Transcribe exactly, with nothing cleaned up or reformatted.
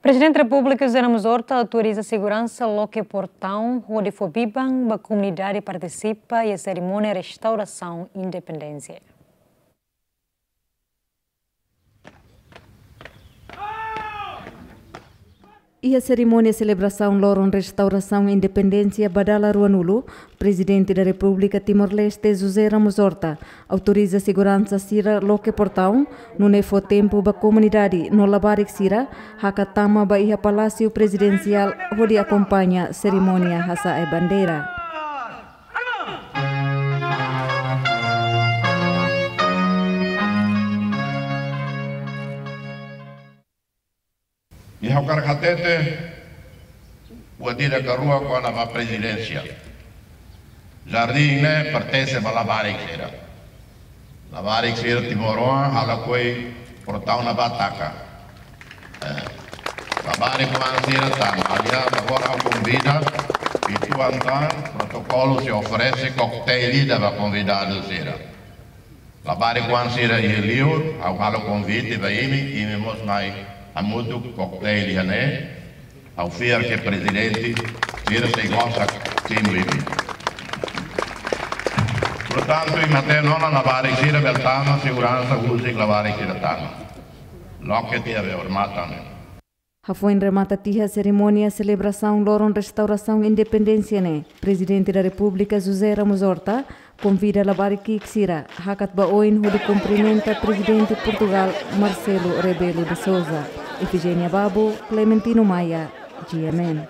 Prezidente Repúblika José Ramos Horta autoriza seguransa loke portaun hodi fó biban ba komunidade partisipa iha serimónia restaurasaun independénsia. Iha serimónia selebrasaun loron restaurasaun independénsia ba dala ruanulu, Prezidente da Repúblika Timor-Leste José Ramos Horta autoriza seguransa sira loke portaun, nune'e fó tempu ba komunidade no labarik sira hakat tama ba iha Palásiu Prezidensiál hodi akompaña serimónia hasa'e bandeira. I ha'u hakarak hatete buat ida ka rua kona-ba prezidénsia. Jardín ne'e pertense ba labarik sira. Labarik sira timoroan halo koi portaun ne'ebá taka. Eh, labarik oan sira tama. Aliás, agora ha'u konvida, uitoan tan, protokolu sei oferese koktéil ida ba konvidadu sira. Labarik oan sira iha liur, ha'u halo konvite ba imi, imi mós mai hamutuk koktéil iha ne'e. Ha'u fiar ke prezidente sira sei gosta simu imi. Portantu, imi hatene ona, labarik sira bele tama, seguransa husik labarik sira tama. Loke tiha be hormatan. Hafoin remata tiha serimónia selebrasaun loron restaurasaun independénsia ne'e, Prezidente da Repúblika José Ramos Horta konvida labarik ki'ik sira hakat ba oin hodi kumprimenta Prezidente Portugál Marcelo Rebelo de Sousa. Efigénia Babo, Clementino Maia, G M N.